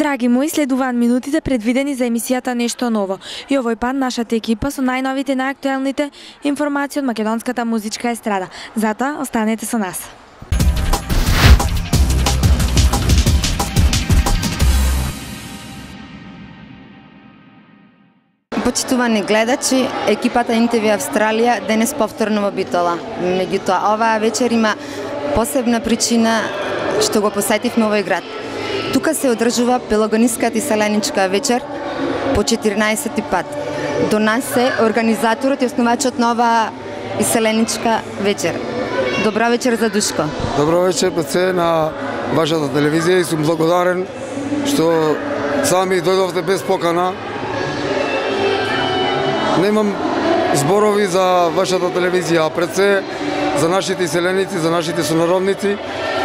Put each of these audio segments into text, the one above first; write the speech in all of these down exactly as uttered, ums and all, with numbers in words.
Драги мои, следуваат минутите предвидени за емисијата Нешто ново. И овој пат нашата екипа со најновите и најактуелните информации од македонската музичка естрада. Затоа останете со нас. Почитувани гледачи, екипата ен те ви Австралија денес повторно во Битола. Меѓутоа, оваа вечер има посебна причина што го посетивме овој град. Тука се одржува пелагониската иселеничка вечер по четиринаесети пат. До нас е организаторот и основачот на оваа иселеничка вечер. Добра вечер за Душко. Добро вечер пред се на вашата телевизија и сум благодарен што сами дојдовте без покана. Немам зборови за вашата телевизија, а пред се за нашите иселеници, за нашите сонародници,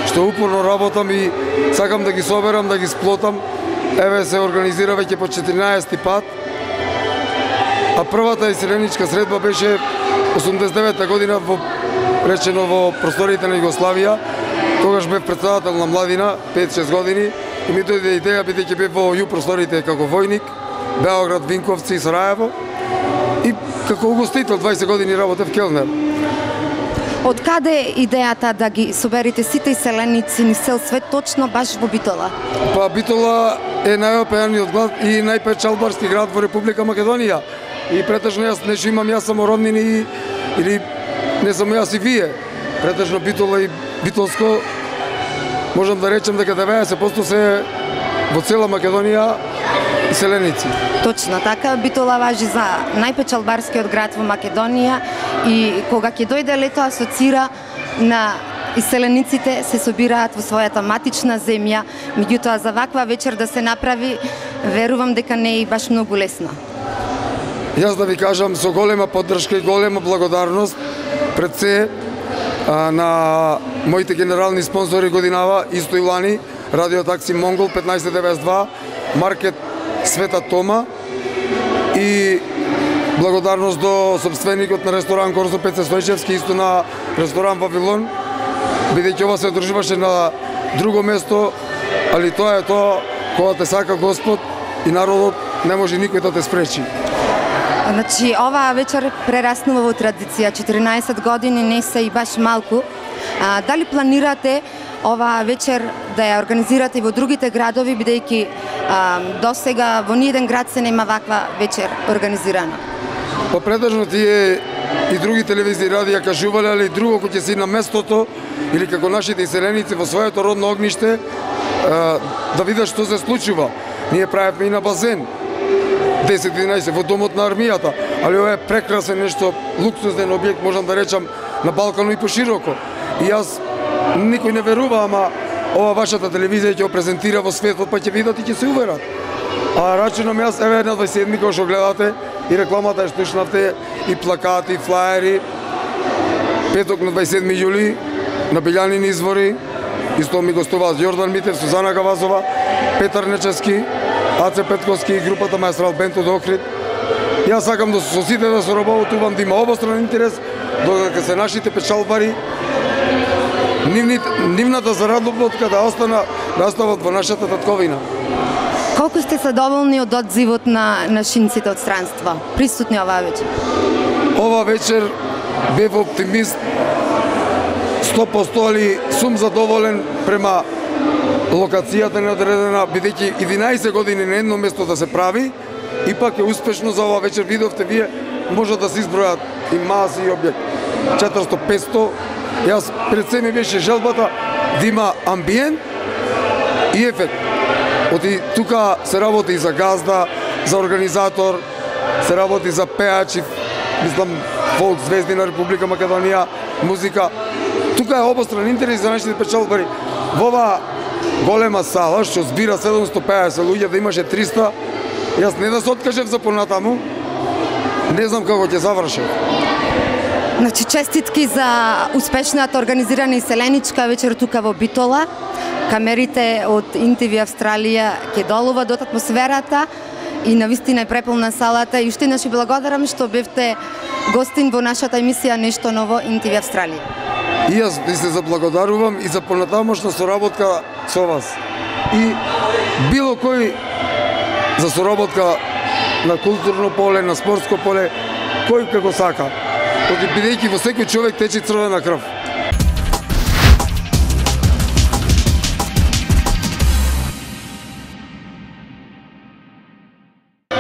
што упорно работам и сакам да ги соберам, да ги сплотам. Еве се организира веќе по четиринаесети пат. А првата иселеничка средба беше осумдесет и девета година во речено во просториите на Југославија. Тогаш бев председател на младина, пет-шест години, и ми дојде идеја бидејќи бев во југ просториите како војник, Београд, Винковци и Сараево. И како угостител дваесет години работев келнер. Од каде идејата да ги соберите сите иселеници низ цел свет точно баш во Битола? Па Битола е најопеаниот град и најпечалбарски град во Република Македонија. И претежно јас не имам јас само роднини или не само јас и вие. Претежно Битола и Битолско можам да речем дека деветдесет проценти се во цела Македонија иселеници. Точно така, Битола важи за најпечалбарскиот град во Македонија и кога ќе дојде лето асоцира на иселениците се собираат во својата матична земја, меѓутоа за ваква вечер да се направи, верувам дека не е и баш многу лесно. Јас да ви кажам со голема поддршка и голема благодарност пред се а, на моите генерални спонзори годинава Исто Илани, Радио Такси Монгол петнаесет деведесет и два, Маркет Света Тома и благодарност до собственикот на ресторан Корзо Пеце Стојчевски, исто на ресторан Вавилон, бидејќи ова се одржуваше на друго место, али тоа е тоа, кога те сака Господ и народот, не може никој да те спречи. Значи, оваа вечер прераснува во традиција, четиринаесет години не се и баш малку. А, дали планирате оваа вечер да ја организирате во другите градови, бидејќи досега во ниеден град се нема ваква вечер организирана? Па претежно тие и други телевизии радија кажувале, али друго кој ќе си на местото или како нашите иселеници во своето родно огниште да видат што се случува. Ние правевме и на базен десет-единаесет во домот на армијата, али ова е прекрасен нешто, луксузнен објект, можам да речам, на Балкану и пошироко. И јас никој не верува, ама ова вашата телевизија ќе го презентира во светот, па ќе видат и ќе се уверат. А рачунам јас, еве на дваесет и седми, кога што гледате, и рекламата е слушнавте, и плакати, и флаери. Петок на дваесет и седми јули, на Белјанини извори, исто ми гостуваат Јордан Митев, Сузана Гавазова, Петар Нечевски, Аце Петковски и групата Маестрал Бенд од Охрид. Јас сакам да со сите да соработувам, да има обостран интерес, додека се нашите печалбари, нивната заработка да остана, да остават во нашата татковина. Колку сте задоволни од одзивот на нашинците од странство, присутни оваа вечер? Ова вечер бев оптимист сто проценти, али сум задоволен према локацијата неодредена, бидејќи единаесет години на едно место да се прави, ипак е успешно за ова вечер. Видовте вие, може да се избројат и маси и објект. четиристотини-петстотини. Јас пред се ми беше желбата да има амбиент и ефект. Оти тука се работи и за газда, за организатор, се работи за пеач и мислам фолк звезди на Република Македонија, музика. Тука е обостран интерес за нашите печалбари. Во ова голема сала што збира седумстотини и пеесет луѓе, да имаше триста, јас не да се откажев за понатаму, не знам како ќе завршев. Значи, честитки за успешната организирана иселеничка вечер тука во Битола. Камерите од ен те ви Австралија ќе долува до атмосферата и навистина е преполна салата. И уште еднаш благодарам што бевте гостин во нашата емисија Нешто ново ен те ви Австралија. И јас ви се заблагодарувам и за понатамошна соработка со вас. И било кој за соработка на културно поле, на спортско поле, кој како сака. Бидејќи во секој човек тече црвена крв.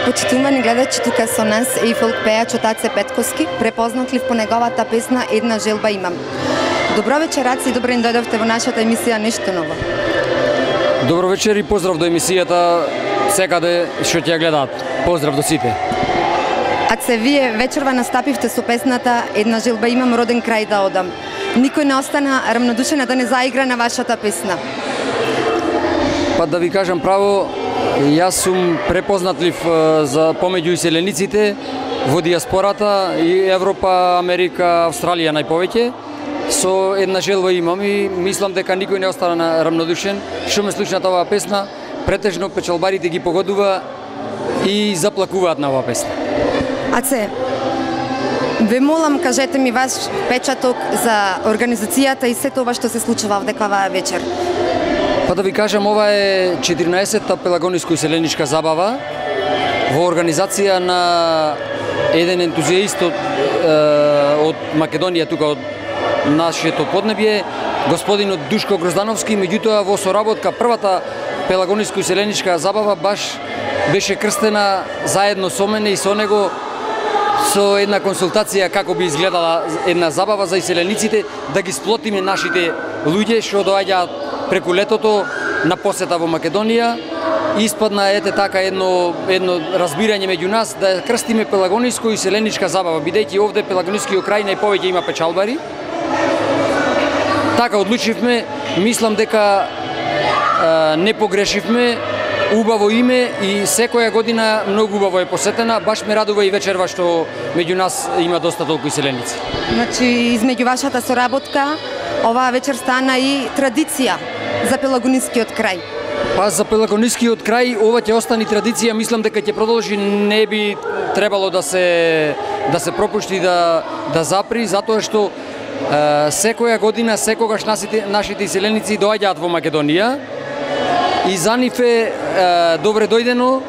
Почитувани гледачи, тука со нас е и фолк пејачот Аце Петковски, препознатлив по неговата песна Една желба имам. Добро вечер, Аце, и добре ни дојдовте во нашата емисија Нешто ново. Добро вечер и поздрав до емисијата секаде што ќе ја гледаат. Поздрав до сите. Аце, вие вечерва настапивте со песната Една желба имам, роден крај да одам. Никој не остана рамнодушен да не заигра на вашата песна. Па да ви кажам право, јас сум препознатлив за помеѓу иселениците во диаспората и Европа, Америка, Австралија најповеќе. Со Една желба имам и мислам дека никој не остана рамнодушен. Што ме слушнат оваа песна, претежно печалбарите ги погодува и заплакуваат на оваа песна. Аце, ве молам, кажете ми ваш печаток за организацијата и сето ова што се случува овдека оваа вечер. Па да ви кажам, ова е четирнаесетта пелагониско-иселеничка забава во организација на еден ентузијаист од, од Македонија, тука од нашето поднебје, господинот Душко Гроздановски. Меѓутоа, во соработка првата пелагониско-иселеничка забава баш беше крстена заедно со мене и со него, со една консултација како би изгледала една забава за иселениците, да ги сплотиме нашите луѓе што доаѓаат преку летото на посета во Македонија. Испадна ете така едно едно разбирање меѓу нас да крстиме пелагониско-иселеничка забава, бидејќи овде пелагонискиот крај најповеќе има печалбари. Така одлучивме, мислам дека е, не погрешивме. Убаво име и секоја година многу убаво е посетена. Баш ме радува и вечерва што меѓу нас има доста толку иселеници. Значи, измеѓу вашата соработка, оваа вечер стана и традиција за пелагонискиот крај. Па за пелагонискиот крај ова ќе остане традиција, мислам дека ќе продолжи, не би требало да се да се пропушти да да запри, затоа што е, секоја година, секогаш нашите нашите иселеници доаѓаат во Македонија. И за нив е, е добре дојдено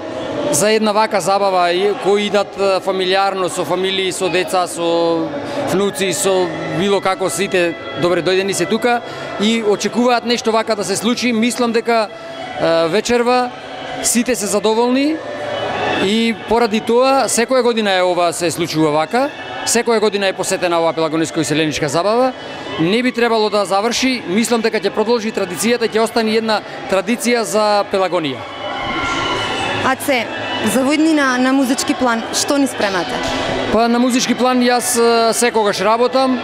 за една вака забава, кои идат фамилиарно, со фамилии, со деца, со внуци, со било како, сите добре дојдени се тука и очекуваат нешто вака да се случи. Мислам дека е, вечерва сите се задоволни и поради тоа секоја година е ова се случува вака. Секоја година е посетена оваа пелагониско-иселеничка забава. Не би требало да заврши, мислам дека ќе продолжи традицијата, ќе остане една традиција за Пелагонија. Аце, за војднина на музички план, што ни спремате? Па на музички план јас секогаш работам,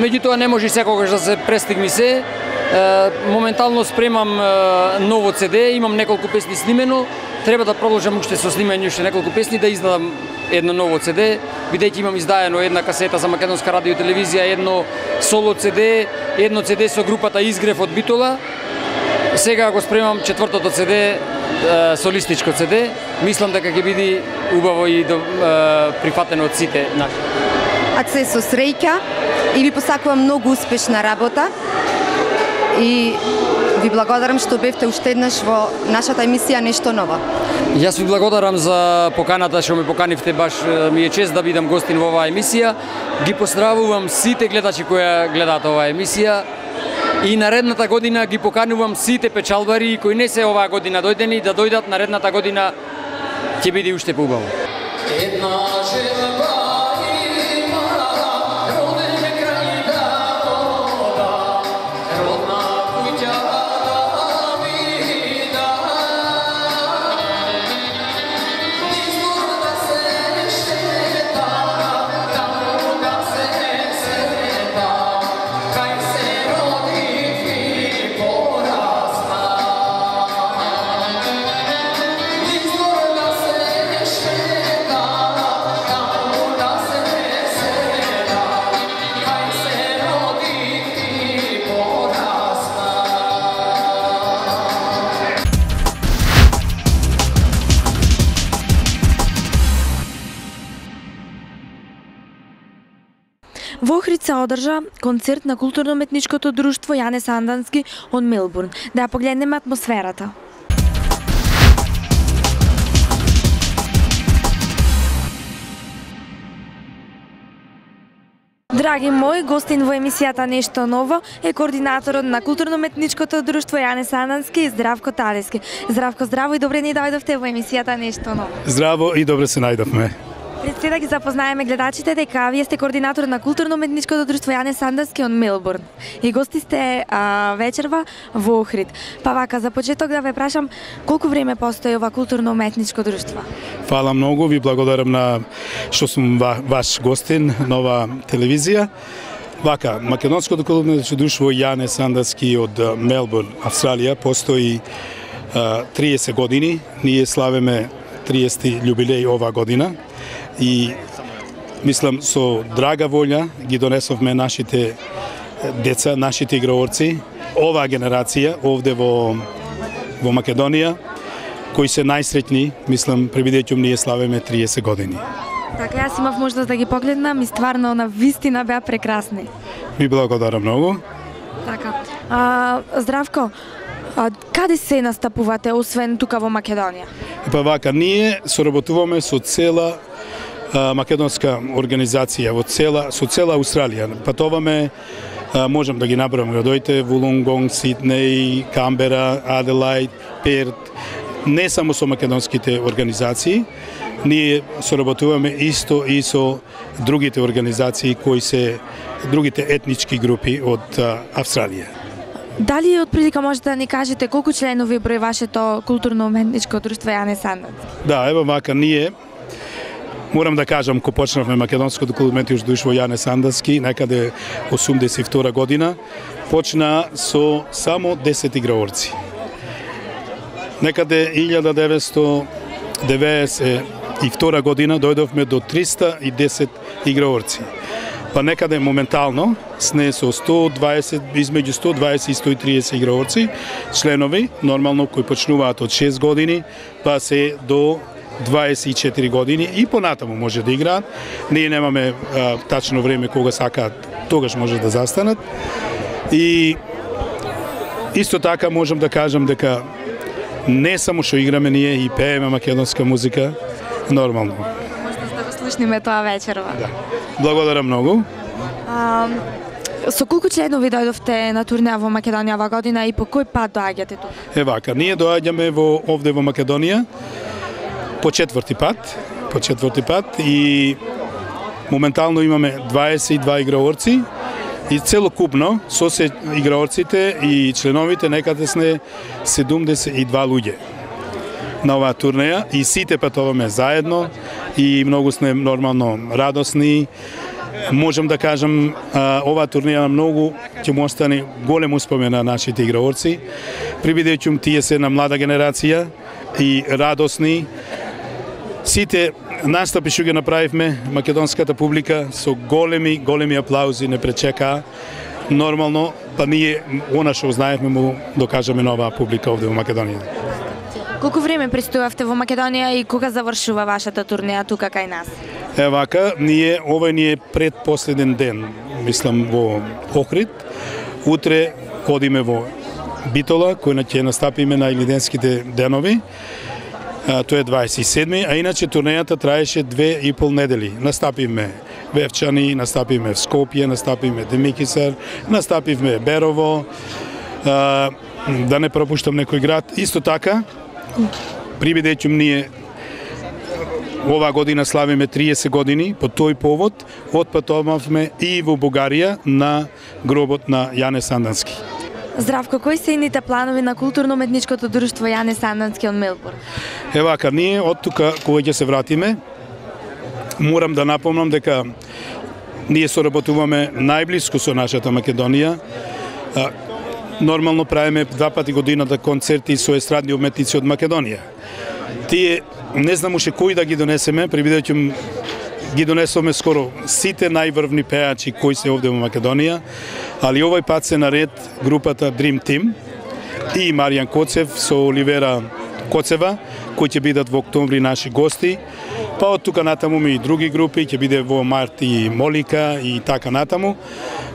меѓутоа не може секогаш да се престигми се. Моментално спремам ново це де, имам неколку песни снимено, треба да продолжам уште со снимање уште неколку песни, да издадам едно ново це де, бидејќи имам издаено една касета за македонска радио и телевизија, едно соло це де, едно це де со групата Изгрев од Битола. Сега го спремам четвртото це де, солистичко це де. Мислам дека ќе биде убаво и до, прифатено од сите наши. Аце, со среќа и ви посакувам многу успешна работа и ви благодарам што бевте уште еднаш во нашата емисија Нешто ново. Јас ви благодарам за поканата што ме поканивте, баш ми е чест да бидам гостин во оваа емисија. Ги поздравувам сите гледачи кои гледаат оваа емисија и наредната година ги поканувам сите печалбари кои не се оваа година дојдени да дојдат наредната година, ќе биде уште поубаво. Во Охрид се одржа концерт на културно-уметничкото друштво Јане Сандански од Мелбурн. Да ја погледнеме атмосферата. Драги мои, гостин во емисијата Нешто ново е координаторот на културно-уметничкото друштво Јане Сандански и Здравко Талески. Здравко, здраво и добре ни дојдовте во емисијата Нешто ново. Здраво и добре се најдовме. Пред се да ги запознаеме гледачите дека вие сте координатор на културно-уметничкото друштво Јане Сандански од Мелбурн и гости сте а, вечерва во Охрид. Па вака, за почеток да ве прашам, колку време постои ова културно-уметничко друштво? Фала многу, ви благодарам на што сум ва, ваш гостин на ова телевизија. Вака, македонското културно-уметничко друштво Јане Сандански од Мелбурн, Австралија, постои а, триесет години. Ние славиме триесети љубилеј ова година. И мислам со драга волја ги донесовме нашите деца, нашите играорци, оваа генерација овде во во Македонија, кои се најсреќни, мислам, пребидејќи ние славиме триесет години. Така, јас имав можност да ги погледнам и стварно на вистина беа прекрасни. Ви благодарам многу. Така. А, Здравко, а, каде се настапувате освен тука во Македонија? Па вака, ние соработуваме со цела а, македонска организација во цела со цела Австралија. Патуваме, а, можам да ги набројам градоите: Вулонгонг, Сиднеј, Камбера, Аделајд, Перт. Не само со македонските организации, ние соработуваме исто и со другите организации кои се другите етнички групи од а, Австралија. Дали отприлика можете да ни кажете колку членови број вашето културно-уметничко друштво Јане Сандански? Да, ево вака, ние морам да кажам, кога почнавме македонското културно-уметничко друштво Јане Сандански, некаде осумдесет и втора година, почна со само десет играорци. Некаде илјада деветстотини деветдесет и втора година дојдовме до триста и десет играорци. Па некаде моментално сне со сто дваесет, измеѓу сто дваесет и сто и триесет играорци, членови, нормално кои почнуваат од шест години, па се до дваесет и четири години и понатаму може да играат. Ние немаме а, тачно време кога сакаат, тогаш може да застанат. И исто така можам да кажам дека не само што играме ние и пееме македонска музика, нормално. Може да го слушниме тоа вечерва. Да. Благодарам многу. А, со колку членови дојдовте на турнеа во Македонија оваа година и по кој пат доаѓате тука? Е вака, ние доаѓаме во овде во Македонија по четврти пат, по четврти пат и моментално имаме дваесет и два играорци и целокупно со се играорците и членовите некаде сме седумдесет и два луѓе на оваа турнеја и сите патуваме заедно и многу сме нормално радосни. Можам да кажам, оваа турнеја многу ќе му остане голем успомен на нашите играорци, прибидејќи тие се на млада генерација и радосни. Сите настапи што ги направивме, македонската публика со големи, големи аплаузи не пречека. Нормално, па ние она што знаевме му докажеме на оваа публика овде во Македонија. Колку време престојавте во Македонија и кога завршува вашата турнеја тука кај нас? Е вака, ние овој ни е предпоследен ден, мислам во Охрид. Утре одиме во Битола, кој ќе настапиме на Илиденските денови. А, тоа е дваесет и седми, а иначе турнејата траеше две и пол недели. Настапивме Вевчани, настапивме в Скопје, настапивме Демикисар, настапивме Берово, а, да не пропуштам некој град. Исто така, прибидејќи ние оваа година славиме триесет години, по тој повод отпатувавме и во Бугарија на гробот на Јане Сандански. Здравко, кои се ините планови на културно-уметничкото друштво Јане Сандански од Мелбурн? Е вака, ние од тука кога ќе се вратиме, морам да напомнам дека ние соработуваме најблиску со нашата Македонија. Нормално правиме два пати годината концерти со естрадни уметници од Македонија. Тие не знам уште кои да ги донесеме, прибидејќи ги донесовме скоро сите најврвни пеачи кои се овде во Македонија, али овој пат се наред групата Dream Team и Маријан Коцев со Оливера Коцева, кои ќе бидат во октомври наши гости. Па од тука натаму и други групи, ќе биде во март и Молика и така натаму.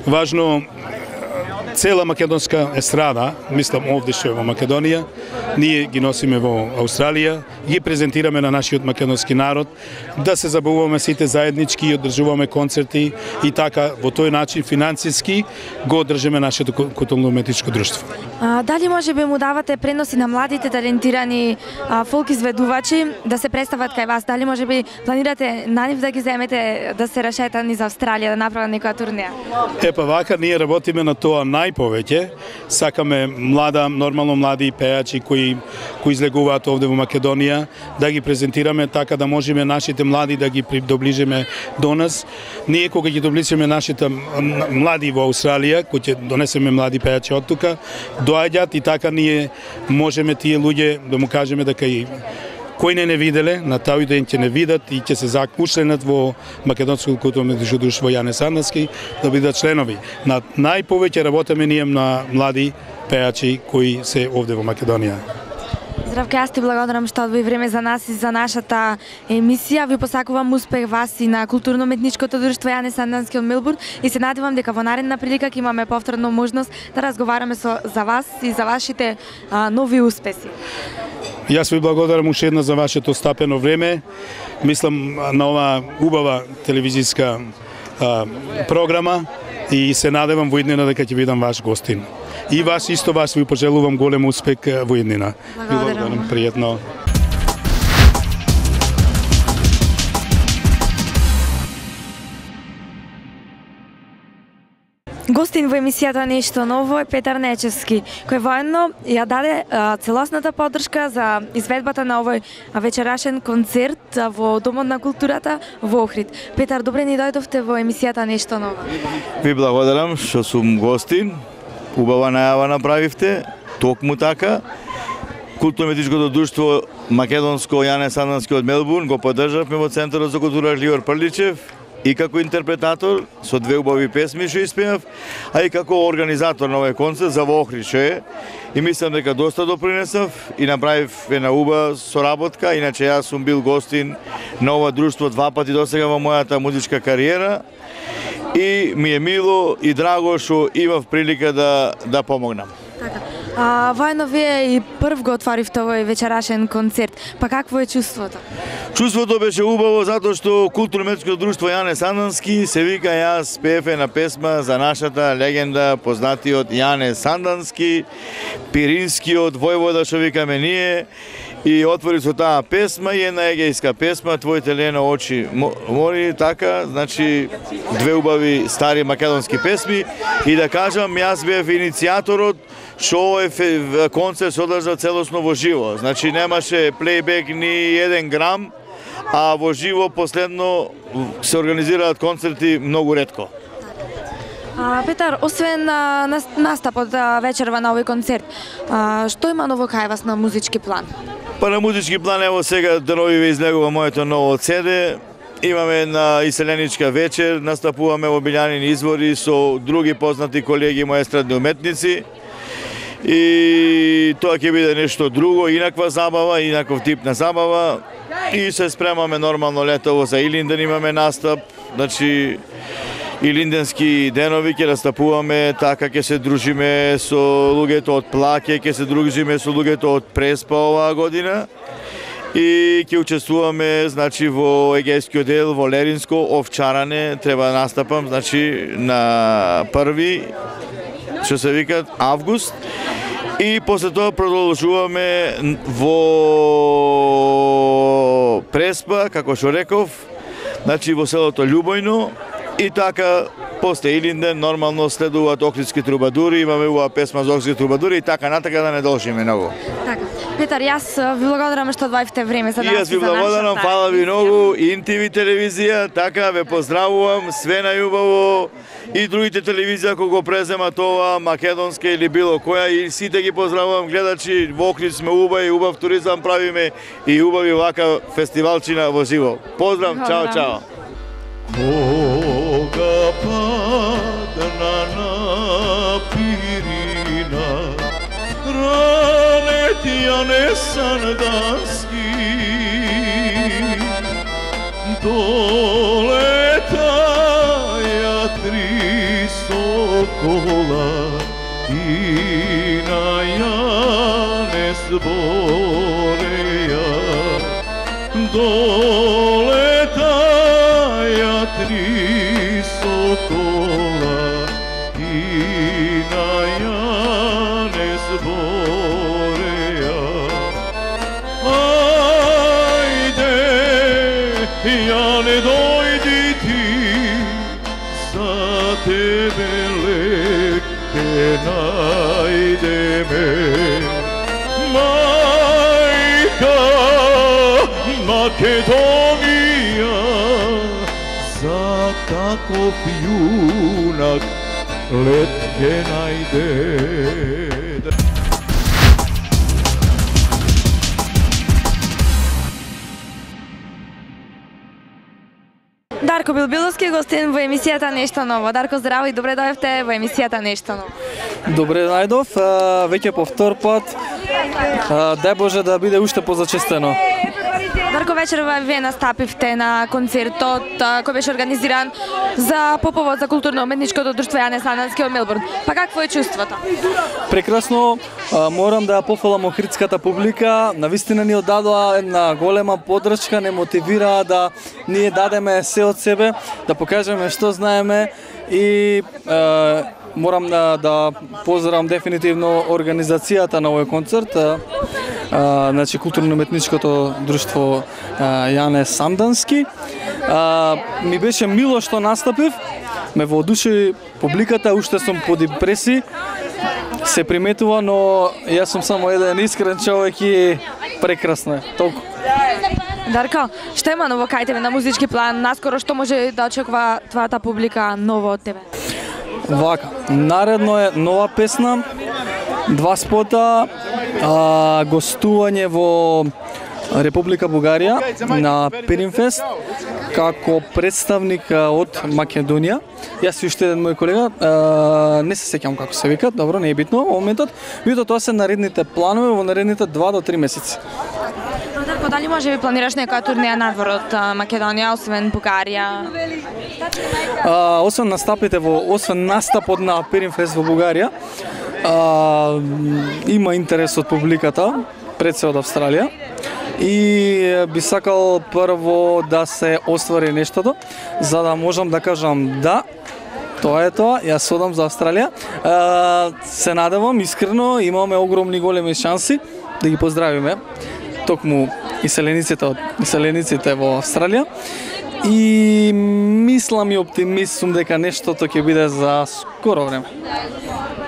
Важно цела македонска естрада, мислам овде што е во Македонија, ние ги носиме во Австралија, ги презентираме на нашиот македонски народ, да се забавуваме сите заеднички и одржуваме концерти и така во тој начин финансиски го одржаме нашето културно-уметничко друштво. А, дали може би му давате преноси на младите талентирани а, фолк изведувачи да се представат кај вас? Дали може би планирате на нив да ги земете да се рашетани за Австралија, да направат некоја турнеја? Е, па вака, ние работиме на тоа најповеќе. Сакаме млада, нормално млади пејачи кои, кои излегуваат овде во Македонија, да ги презентираме така да можеме нашите млади да ги доближиме до нас. Ние кога ги доближиме нашите млади во Австралија, кои ќе донесеме млади пејачи од тука, доаѓаат и така ние можеме тие луѓе да му кажеме дека и кои не не виделе, на тај ден ќе не видат и ќе се закушленат во Македонското културно-уметничко друштво Јане Сандански да бидат членови. На најповеќе работиме ние на млади пејачи кои се овде во Македонија. Здравка, јас ти благодарам што одвои време за нас и за нашата емисија. Ви посакувам успех вас и на културно-уметничкото друштво Јане Сандански од Мелбурн и се надевам дека во наредна прилика ќе имаме повторно можност да разговараме со за вас и за вашите а, нови успеси. Јас ви благодарам уште една за вашето стапено време. Мислам на оваа убава телевизиска а, програма и се надевам во иднина дека ќе бидам ваш гостин. И вас исто вас ви пожелувам голем успех во иднина. Благодарам. Ви благодарам, пријатно. Гостин во емисијата Нешто ново е Петар Нечевски, кој воедно ја даде а, целосната поддршка за изведбата на овој вечерашен концерт а, во Домот на културата во Охрид. Петар, добре ни дојдовте во емисијата Нешто ново. Ви благодарам што сум гостин. Убава најава направивте, токму така. Културно-уметничкото друштво Македонско Јане Сандански од Мелбурн го поддржавме во Центарот за култура Ливор Прличев и како интерпретатор со две убави песми што испеав, а и како организатор на овој концерт за во Охрид што е. И мислам дека доста допринесав и направив една убава соработка, иначе јас сум бил гостин на ова друштво два пати досега во мојата музичка кариера. И ми е мило и драго што имав прилика да да помогнам. Така. А, воедно вие и прв го отворивте овој вечерашен концерт. Па какво е чувството? Чувството беше убаво затоа што културно-уметничкото друштво Јане Сандански се вика јас пеев една песма за нашата легенда, познатиот Јане Сандански, пиринскиот војвода што викаме ние. И отвори со таа песма и една егејска песма, Твоите лено очи мори, така, значи две убави стари македонски песми. И да кажам, јас бев иницијаторот што овој концерт се одржа целосно во живо. Значи немаше плейбек ни еден грам, а во живо последно се организираат концерти многу ретко. А, Петар, освен а, настапот а, вечерва на овој концерт, а, што има ново кај вас на музички план? Па на музички план, ево сега деновиве излегува моето ново седе. Имаме на иселеничка вечер, настапуваме во Билјанини извори со други познати колеги мои естрадни уметници. И тоа ќе биде нешто друго, инаква забава, инаков тип на забава. И се спремаме нормално летово за Илинден, имаме настап, значи Илинденски денови ќе настапуваме, така ќе се дружиме со луѓето од Плаке, ќе се дружиме со луѓето од Преспа оваа година и ќе учествуваме, значи, во егејскиот дел, во Леринско, овчаране, треба да настапам, значи, на први, што се викат, август, и после тоа продолжуваме во Преспа, како што реков, значи, во селото Љубојно. И така, после Илинден, нормално следуваат Охридски трубадури, имаме ова песма за Охридски трубадури и така натака да не должиме многу. Така. Петар, јас ви благодарам што одвоивте време за нас. И јас ви благодарам, фала ви многу, Ин Ти Ви телевизија, така, ве поздравувам, све најубаво, и другите телевизија кои го преземат ова, македонска или било која, и сите ги поздравувам гледачи, во Охрид сме убави, убав туризам правиме и убави вака фестивалчина во живо. Поздрав, чао, чао. Кога падна на Пирина, ранет Јане Сандански, долетаја три сокола и на Јанес Бореја долетаја три сокола и на Јанес Бореја. Ајде, Јане, дојди ти, за тебе лекте најдеме. Мајка Македонија, за таков јунак лет ке најде. Дарко Билбиловски гостин во емисијата Нешто ново. Дарко, здраво и добре дојавте во емисијата Нешто ново. Добре најдов, веќе по втор пат. Дај Боже да биде уште позачестено. Дарко, вечерва вие настапивте на концертот кој беше организиран за поповод за културно-уметничкото друштво Јане Сандански од Мелбурн. Па какво е чувството? Прекрасно, морам да пофалам охридската публика. Навистина ни одадоа една голема поддршка, не мотивираа да ние дадеме се од себе, да покажеме што знаеме и е, морам да, да поздравам дефинитивно организацијата на овој концерт. Uh, значи културно-уметничкото друштво uh, Јане Сандански. Uh, ми беше мило што настапив, ме воодушеви публиката, уште сум под импреси, се приметува, но јас сум само еден искрен човек и прекрасно е, толку. Дарко, што има ново кај тебе на музички план? Наскоро што може да очекува твојата публика ново од тебе? Вака, наредно е нова песна, два спота, а, гостување во Република Бугарија на Пиринфест како представник од Македонија. Јас и уште еден мој колега, а, не се сеќавам како се викат, добро, не е битно во моментот. Меѓутоа тоа се наредните планови во наредните два до три месеци. Дарко, дали може би планираш некоја турнеја надвор од Македонија, освен Бугарија? А, освен настапите во, освен настапот на Пиринфест во Бугарија, а, има интерес од публиката, пред се од Австралија. И би сакал прво да се оствари нештото, за да можам да кажам да, тоа е тоа, јас одам за Австралија. А, се надевам искрено, имаме огромни големи шанси да ги поздравиме токму иселениците од иселениците во Австралија. И мислам и оптимист сум дека нештото ќе биде за скоро време.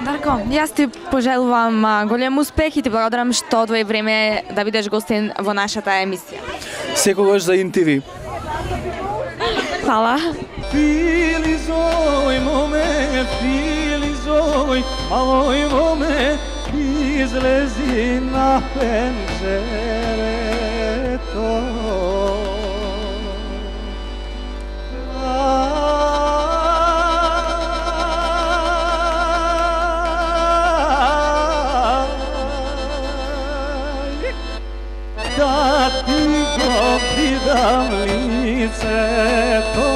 Дарко, јас ти пожелувам голем успех и ти благодарам што одвои време да бидеш гостин во нашата емисија. Секогаш за Ин Ти Ви. Фала. Филизој моме, филизој, малој моме, излези на пенџерето. Да ти го видам лицето.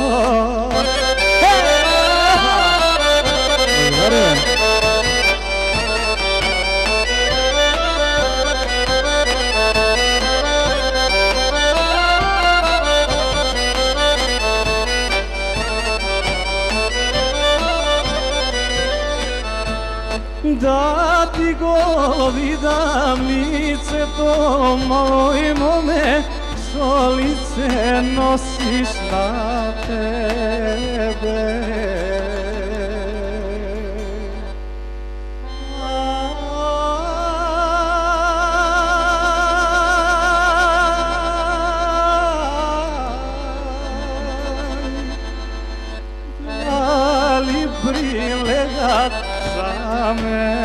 Да ти го видам лицето, малој моме, со лице носиш на тебе. Дали брилегат за мене?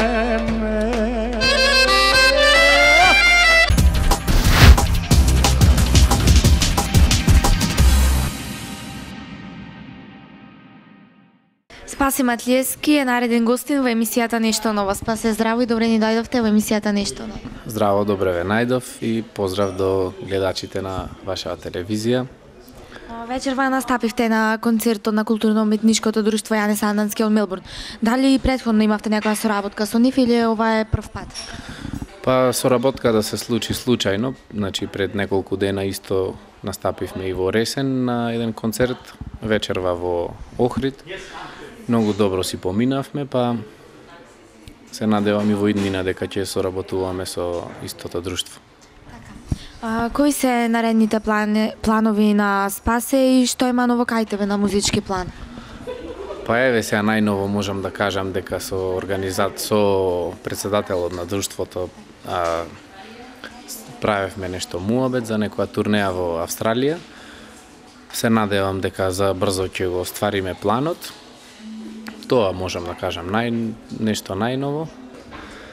Спаси Матлиевски е нареден гостин во емисијата Нешто ново. Спасе, здраво и добре ни дојдовте во емисијата Нешто ново. Здраво, добре ве најдов и поздрав до гледачите на вашата телевизија. Вечерва настапивте на концертот на културно-уметничкото друштво Јане Сандански од Мелбурн. Дали претходно имавте некоја соработка со нив или ова е прв пат? Па соработка да се случи случајно, значи пред неколку дена исто настапивме и во Ресен на еден концерт, вечерва во Охрид. Многу добро си поминавме, па се надевам и во иднина дека ќе соработуваме со истото друштво. А, кои се наредните плани, планови на Спасе и што има ново кај тебе на музички план? Па еве сега најново можам да кажам дека со организат со председателот на друштвото а, правевме нешто муабет за некоја турнеја во Австралија. Се надевам дека за брзо ќе го оствариме планот. Тоа можам да кажам нај нешто најново.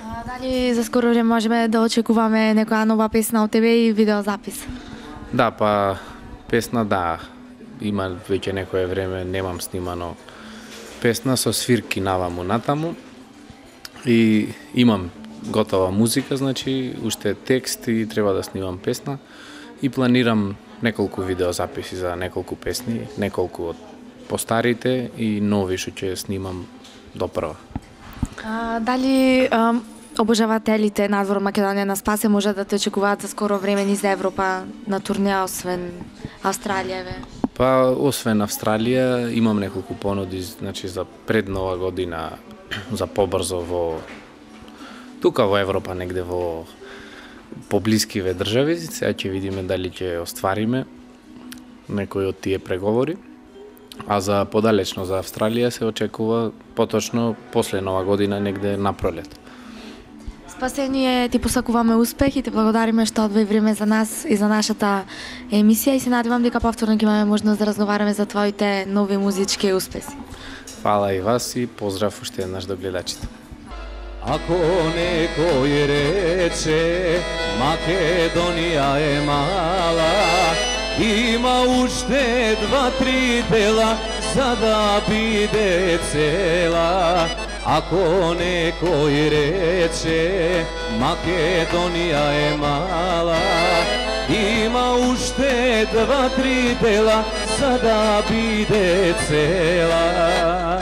А, дали за скоро време можеме да очекуваме некоја нова песна од тебе и видеозапис? Да, па песна да. Има веќе некое време немам снимано песна со свирки наваму натаму. И имам готова музика, значи уште текст и треба да снимам песна и планирам неколку видеозаписи за неколку песни, неколку од постарите и нови што ќе снимам допрва. А, дали ам, обожавателите надвор Македонија на Спасе може да те очекуваат за скоро време низ Европа на турнеја освен Австралија? Ве? Па освен Австралија имам неколку понуди, значи за пред нова година за побрзо во тука во Европа, негде во поблискиве држави. Сега ќе видиме дали ќе оствариме некои од тие преговори. А за подалечно за Австралија се очекува поточно после нова година, негде на пролет. Спасе, ние ти посакуваме успех и ти благодариме што одвои време за нас и за нашата емисија и се надевам дека повторно ќе имаме можност да разговараме за твоите нови музички успеси. Фала и вас и поздрав уште еднаш до гледачите. Ако некој рече Македонија е мала, има уште два-три дела за да биде цела. Ако некој рече Македонија е мала, има уште два-три дела за да биде цела.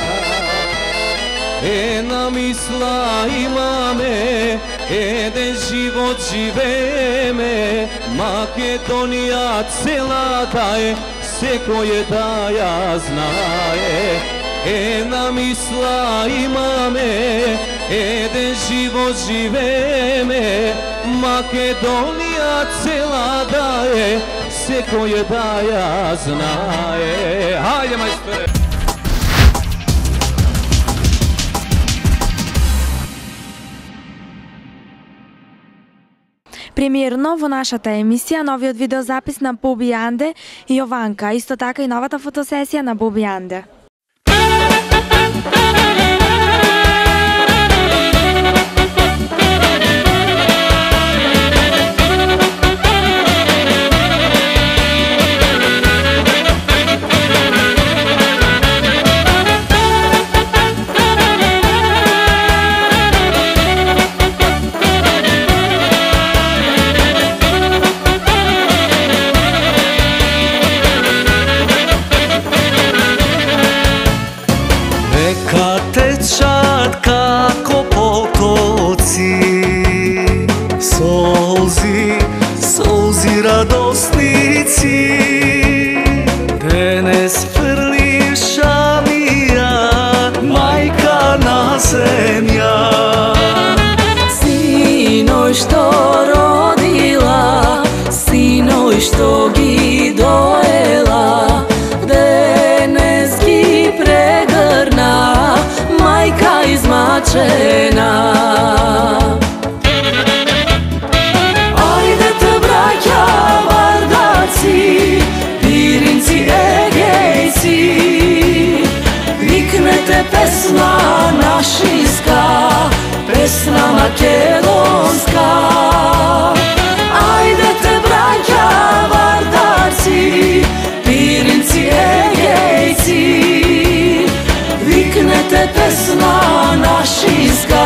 Една мисла имаме, еден живот живееме, Македонија цела да е, секој да ја знае. Една мисла имаме, еден живот живееме, Македонија цела да е, секој да ја знае. Хајде, мајсторе! Премиерно во нашата емисија новиот видеозапис на Боби Јанде и Јованка, исто така и новата фотосесија на Боби Јанде. Како потоци, солзи, солзи радосници, денес фрлиша мија, мајка на земја. Синој што родила, синој што ги доела, денес ги прегрна, мајка измачена. Ајдете браќа вардаци, пиринци егејци, викнете песна нашинска, песна македонска. Ајдете браќа вардаци, пиринци егејци, викнете песна нашинска,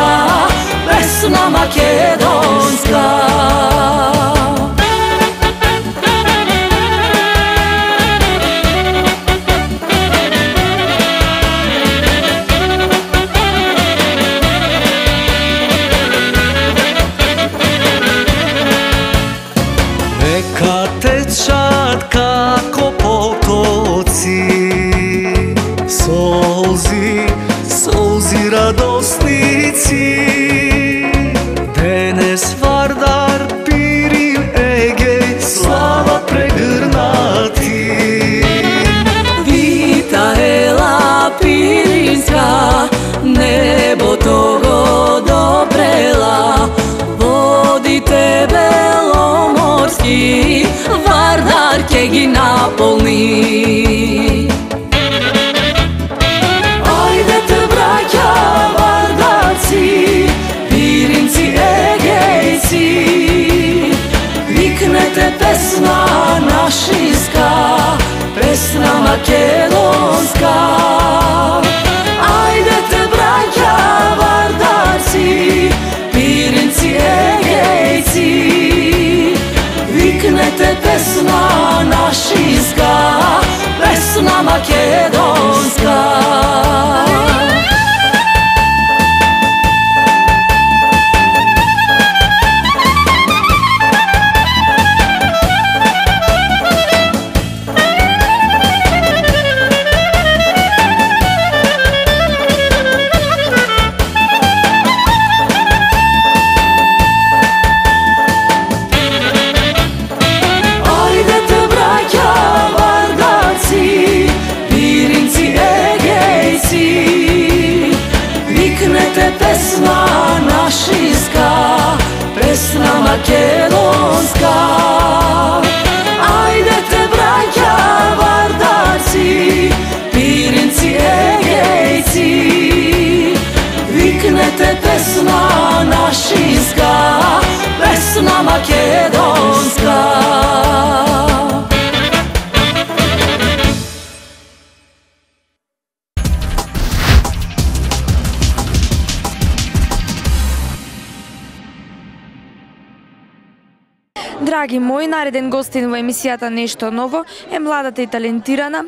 песна македонска. Kad tečat kako potoci, solzi, solzi radosnici. Денес Вардар, Пирин, Егей, слава прегрнати. Вита ела Пиринска, небото го допрела, водите беломорски, Вардар ќе ги наполни. Ајдете браќа вардарци, Пиринци, Егејци, викнете песна нашинска, песна македонска. Ајдете браќа вардарци, Пиринци, Егејци, викнете песна нашинска, песна македонска. Песна нашинска, песна македонска. Ајдете браќа вардарци, Пиринци, Егејци, викнете песна нашинска, песна македонска. Драги мои, нареден гостин во емисијата Нешто ново е младата и талентирана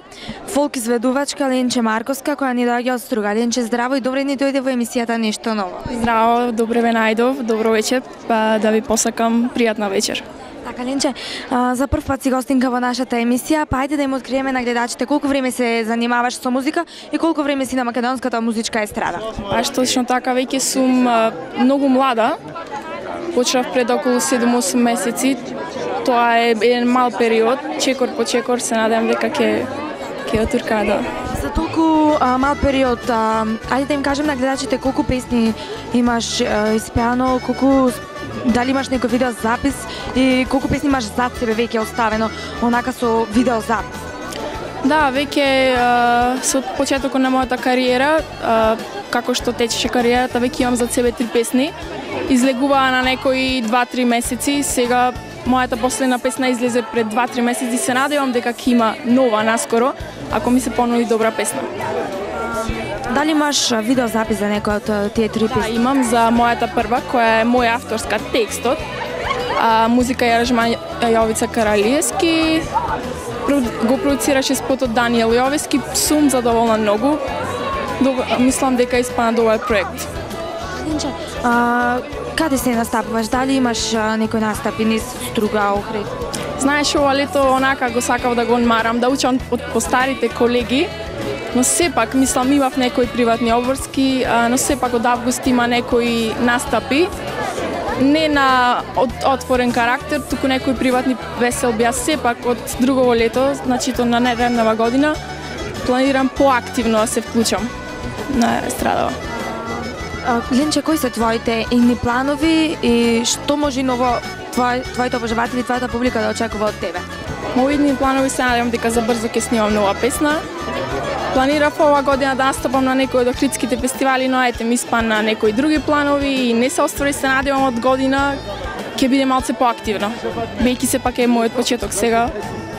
фолк изведувачка Ленче Марковска, која ни доаѓа од Струга. Ленче, здраво и добре ни дојде во емисијата Нешто ново. Здраво, добре ве најдов, добро вечер, па да ви посакам пријатна вечер. Така, Ленче, а, за прв пат си гостинка во нашата емисија, па ајде да им откриеме на гледачите колку време се занимаваш со музика и колку време си на македонската музичка естрада. Аш точно така, веќе сум а, многу млада. Почнав пред околу седум-осум месеци. Тоа е еден мал период, чекор по чекор се надевам дека ќе ќе отурка да. За толку а, мал период, а, ајде да им кажем на гледачите колку песни имаш а, испеано, колку дали имаш некој видео запис и колку песни имаш зад себе веќе оставено онака со видео запис. Да, веќе а, со почетокот на мојата кариера, а, како што течеше кариерата, веќе имам зад себе три песни. Излегуваа на некои два-три месеци, сега мојата последна песна излезе пред два-три месеци, се надевам дека ќе има нова наскоро, ако ми се понуди добра песна. Дали имаш видеозапис за некој од тие три песни? Да, имам за мојата прва, која е моја авторска, текстот, а, музика и аранжман Јовица Каралиевски, го продуцираше спотот Даниел Јовески, сум задоволна многу, Доб... мислам дека испана добар проект. Ленче, а, каде се настапуваш? Дали имаш а, некој настапи низ Струга, Охрид? Знаеш, ова лето онака го сакав да го одмарам, да учам од постарите колеги, но сепак, мислам, имав некои приватни обврски, а, но сепак од август има некои настапи, не на од, отворен карактер, туку некои приватни веселби, а сепак од друго лето, значито на нареднава година, планирам поактивно да се вклучам на естрадава. Ленче, кои се твоите идни планови и што може ново твој, твоите обожаватели, твојата публика да очекува од тебе? Мои идни планови се надевам дека за брзо ќе снимам нова песна. Планирав ова година да настапам на некои од охридските фестивали, но ете ми спана некои други планови и не се оствари, се надевам од година ќе биде малце поактивно. Бејќи се пак е мојот почеток сега,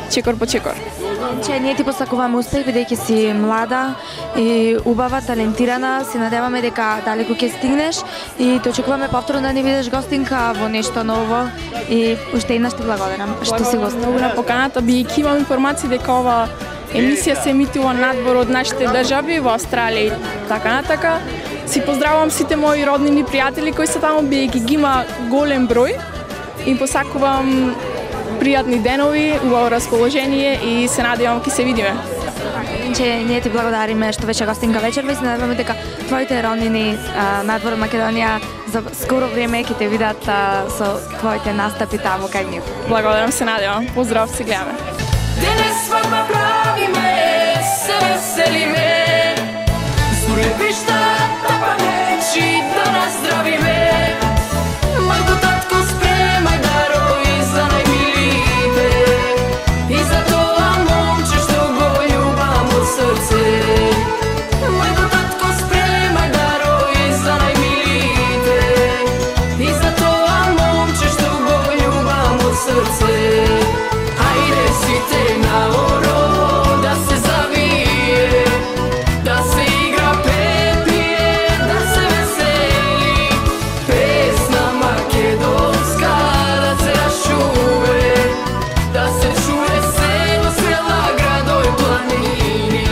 чекор по чекор. Че ние ти посакуваме успех, бидејќи си млада и убава, талентирана, се надеваме дека далеку ќе стигнеш и те очекуваме повторно да ни видиш гостинка во Нешто ново и уште еднаш ти благодарам што си гост. Многу на поканата, бидејќи имам информации дека ова емисија се емитува надвор од нашите држави во Австралија и така натака. Си поздравувам сите мои роднини пријатели кои се таму, бидејќи ги има голем број и посакувам пријатни денови, убаво расположение и се надевам ќе се видиме. Че ние ти благодариме што беше гостинка вечерва и се надеваме дека твоите роднини а, надвор од Македонија за скоро време ќе те видат а, со твоите настапи таму кај нив. Благодарам, се надевам. Поздрав, се гледаме. Денес свадба правиме, се веселиме, сурепишта па нечи да наздравиме. Мајко, татко, спремај дарови за најмилите и за тоа момче што го љубам од срце. Мајко, татко, спремај дарови за најмилите и за тоа момче што го љубам од срце. Ајде сите наоро да се завие, да се игра пепие, да се весели, песна македонска да се расчуве, да се чуе село, села, градови, планини.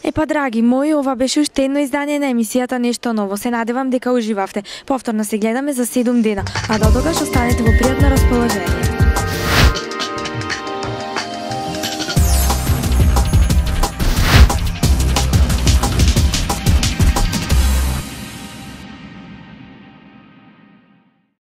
Епа, драги мои, ова беше уште едно издание на емисијата Нешто ново. Се надевам дека уживавте. Повторно се гледаме за седум дена, а до тогаш останете во пријатно расположение.